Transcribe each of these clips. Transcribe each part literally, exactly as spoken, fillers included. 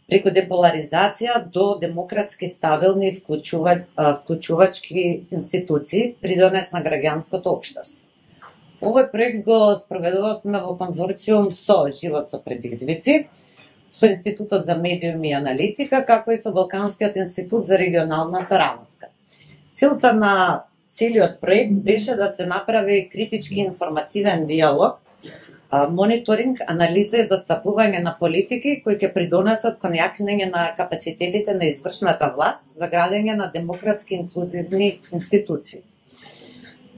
преку деполаризација до демократски стабилни и вклучувач, вклучувачки институции, придонес на граѓанското општество. Овој проект го спроведувавме во конзорциум со Живот со предизвици, со Институтот за медиуми и аналитика, како и со Балканскиот институт за регионална соработка. Целта на целиот проект беше да се направи критички информативен диалог, мониторинг, анализа и застапување на политики кои ќе придонесат кон јакнење на капацитетите на извршната власт за градење на демократски инклузивни институции.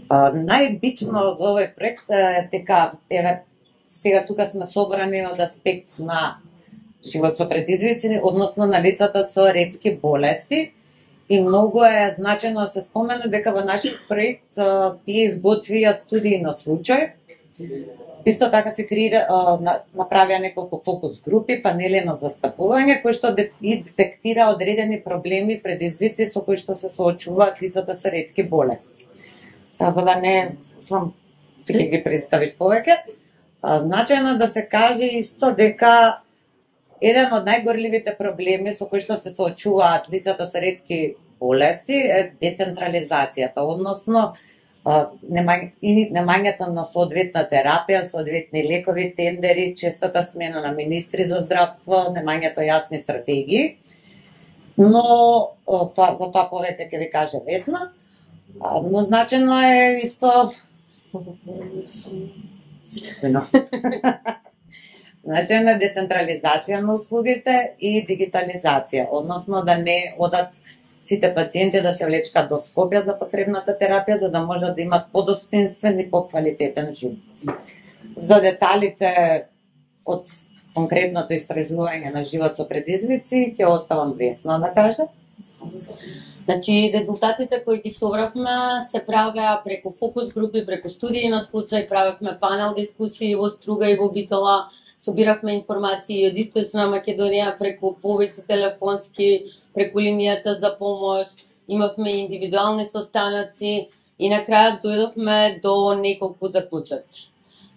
Најбитно за овој проект е дека еве сега тука сме собрани од аспект на живот со предизвици, односно на лицата со ретки болести, и многу е значено да се спомене дека во нашиот проект тие изготвија студии на случај. Исто така се креира, направија неколку фокус групи, панели на застапување, кои што и детектира одредени проблеми, предизвици со кои што се соочуваат лицата со ретки болести. Така да не сам ќе ги представиш повеќе. Значајно да се каже исто дека еден од најгорливите проблеми со кои што се соочуваат лицата со ретки болести е децентрализацијата, односно и немањето на соодветна терапија, соодветни лекови, тендери, честата смена на министри за здравство, немањето јасни стратегии. Но тоа, за тоа повеќе ќе ви каже Весна. Но значено е исто значено е децентрализација на услугите и дигитализација, односно да не одат сите пациенти да се влечкат до Скопје за потребната терапија, за да можат да имат подостоинствен и поквалитетен живот. За деталите од конкретното истражување на живот со предизвици ќе оставам Весна да каже. Значи, резултатите кои ги собравме се правеа преку фокус групи, преку студии на случај, правевме панел дискусии во Струга и во Битола, собиравме информации од Источна Македонија преку повеќе телефонски, преку линијата за помош, имавме индивидуални состаноци и на крајот дојдовме до неколку заклучоци.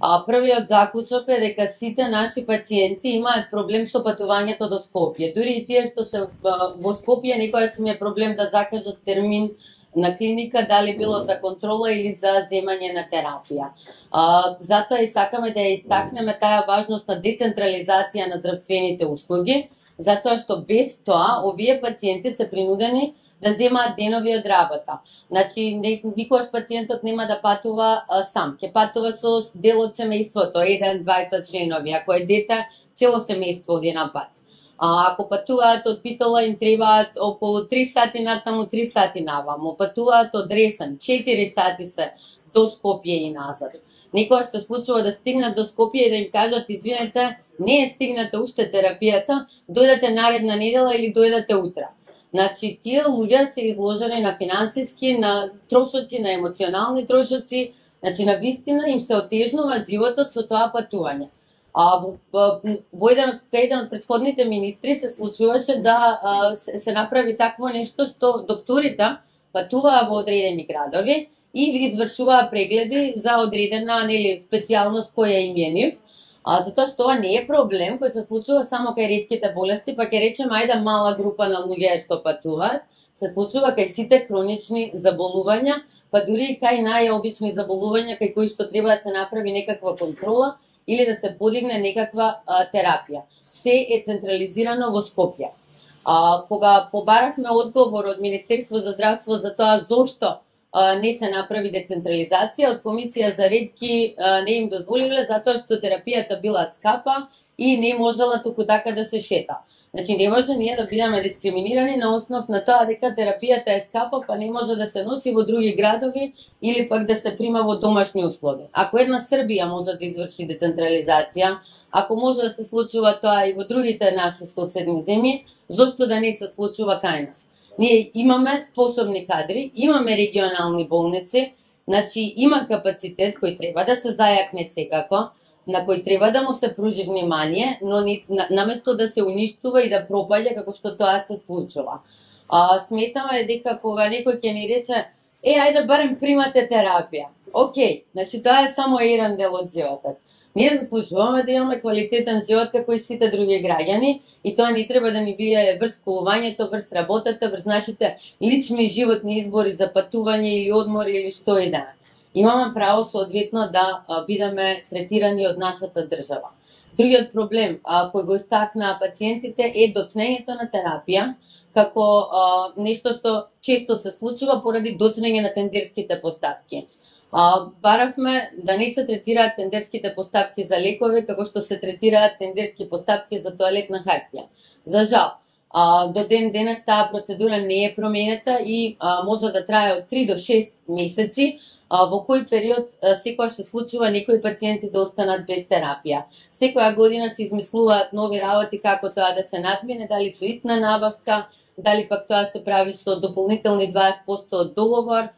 А првиот заклучок е дека сите наши пациенти имаат проблем со патувањето до Скопје. Дури и тие што се во Скопје некојаш ми е проблем да закажат термин на клиника, дали било за контрола или за земање на терапија. А, затоа и сакаме да ја истакнеме таа важност на децентрализација на здравствените услуги, затоа што без тоа овие пациенти се принудени да земаат денови од работа. Значи, никогаш пациентот нема да патува а, сам, ќе патува со дел од семејството, еден, двајца членови, ако е дете, цело семејство од еден пат. А ако патуваат од Битола, им требаат околу три сати натаму, три сати наваму. Патуваат од Ресен, четири сати се до Скопје и назад. Некогаш се случува да стигнат до Скопје и да им кажат: извинете, не е стигната уште терапијата, дојдете наредна недела или дојдете утре. Значи, тие луѓе се изложени на финансиски, на трошоци, на емоционални трошоци, значи на вистина им се отежнува животот со тоа патување. А во, во еден од еден од претходните министри се случуваше да а, се, се направи такво нешто што докторите патуваа во одредени градови и извршуваа прегледи за одредена, нели, специјалност која им е нив. А затоа што ова не е проблем кој се случува само кај ретките болести, па ќе речеме ајде мала група на луѓе што патуваат, се случува кај сите хронични заболувања, па дури и кај најобични заболувања кај кои што треба да се направи некаква контрола или да се подигне некаква а, терапија. Се е централизирано во Скопје. А, кога побаравме одговор од Министерство за здравство за тоа зошто а, не се направи децентрализација, од Комисија за ретки а, не им дозволиле затоа што терапијата била скапа и не можела туку така да се шета. Значи не може ние да бидеме дискриминирани на основ на тоа дека терапијата е скапа, па не може да се носи во други градови или пак да се прима во домашни услови. Ако една Србија може да изврши децентрализација, ако може да се случува тоа и во другите наши соседни земји, зошто да не се случува кај нас? Ние имаме способни кадри, имаме регионални болници, значи има капацитет кој треба да се зајакне секако, на кој треба да му се пружи внимание, но ни, на, наместо да се уништува и да пропаѓа како што тоа се случува. А, сметаме дека кога некој ќе ни рече: е, ајде барем примате терапија. Океј, значи тоа е само еден дел од животот. Ние заслужуваме да имаме квалитетен живот како и сите други граѓани и тоа не треба да ни влијае врз колувањето, врз работата, врз нашите лични животни избори за патување или одмори или што и да. Имаме право соодветно да а, бидеме третирани од нашата држава. Другиот проблем а, кој го истакнаа пациентите е доцнењето на терапија како а, нешто што често се случува поради доцнење на тендерските поставки. А, баравме да не се третираат тендерските поставки за лекови како што се третираат тендерски поставки за тоалетна хартија. За жал, а, до ден денес таа процедура не е променета и а, може да трае од три до шест месеци, а, во кој период а, секоја се случува некои пациенти да останат без терапија. Секоја година се измислуваат нови работи како тоа да се надмине, дали со итна набавка, дали пак тоа се прави со дополнителни дваесет проценти од договор,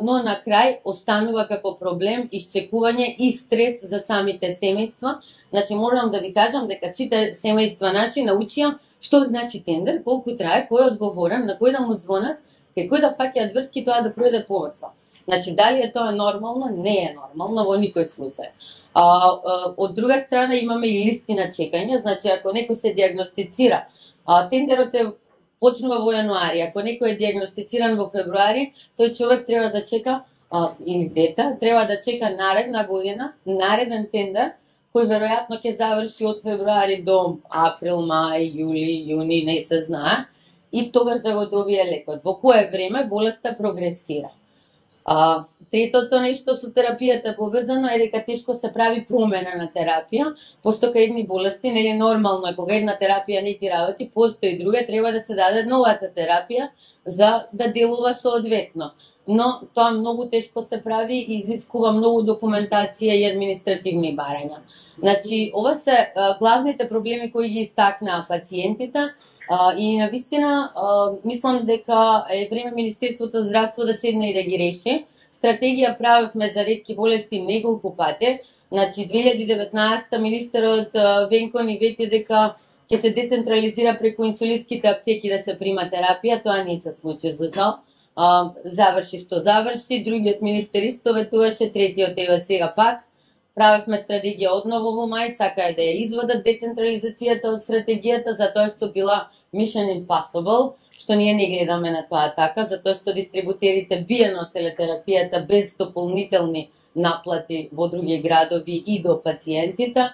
но на крај останува како проблем исчекување и стрес за самите семејства. Значи, морам да ви кажам дека сите семејства наши научија што значи тендер, колку трае, кој е одговорен, на кој да му звонат, кај кој да фаќаат врски тоа да пројде побрзо. Значи, дали е тоа нормално? Не е нормално во никој случај. А, а, од друга страна имаме и листи на чекање, значи ако некој се диагностицира, а, тендерот е почнува во јануари, ако некој е диагностициран во февруари, тој човек треба да чека, а, или дете, треба да чека наредна година, нареден тендер, кој веројатно ќе заврши од февруари до април, мај, јули, јуни, не се знае, и тогаш да го добие лекот. Во кое време болеста прогресира. А, третото нешто со терапијата поврзано е дека тешко се прави промена на терапија, пошто кај едни болести нели нормално е кога една терапија не ти работи, постои друга, треба да се даде новата терапија за да делува соодветно. Но тоа многу тешко се прави и изискува многу документација и административни барања. Значи, ова се а, главните проблеми кои ги истакнаа пациентите. Uh, и навистина, uh, мислам дека е време Министерството за здравство да седне и да ги реши. Стратегија правевме за ретки болести неколку пати. Значи, две илјади и деветнаесетта министерот uh, Венко ни вети дека ќе се децентрализира преку инсулинските аптеки да се прима терапија. Тоа не се случи, за жал. Uh, заврши што заврши. Другиот министер исто ветуваше, третиот ева сега пак. Правевме стратегија одново во мај, сакаа да ја извадат децентрализацијата од стратегијата, затоа што била mission impossible, што ние не гледаме на тоа така, затоа што дистрибутерите би ја носеле терапијата без дополнителни наплати во други градови и до пациентите.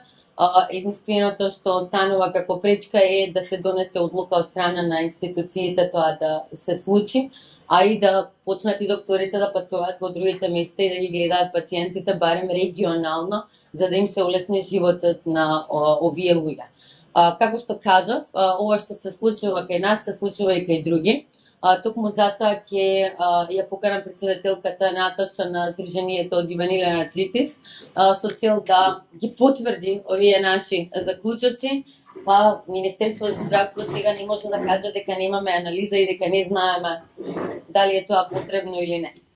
Единственото што останува како пречка е да се донесе одлука од страна на институциите тоа да се случи, а и да почнат и докторите да патуваат во другите места и да ги гледаат пациентите барем регионално, за да им се улесни животот на о, овие луѓе. А, како што кажав, а, ова што се случува кај нас, се случува и кај други. А, токму затоа ќе ја покарам председателката Наташа на Сдруженијето од ювенилен артритис а, со цел да ги потврди овие наши заклучоци. Па Министерство за здравство сега не може да каже дека немаме анализа и дека не знаеме дали е тоа потребно или не.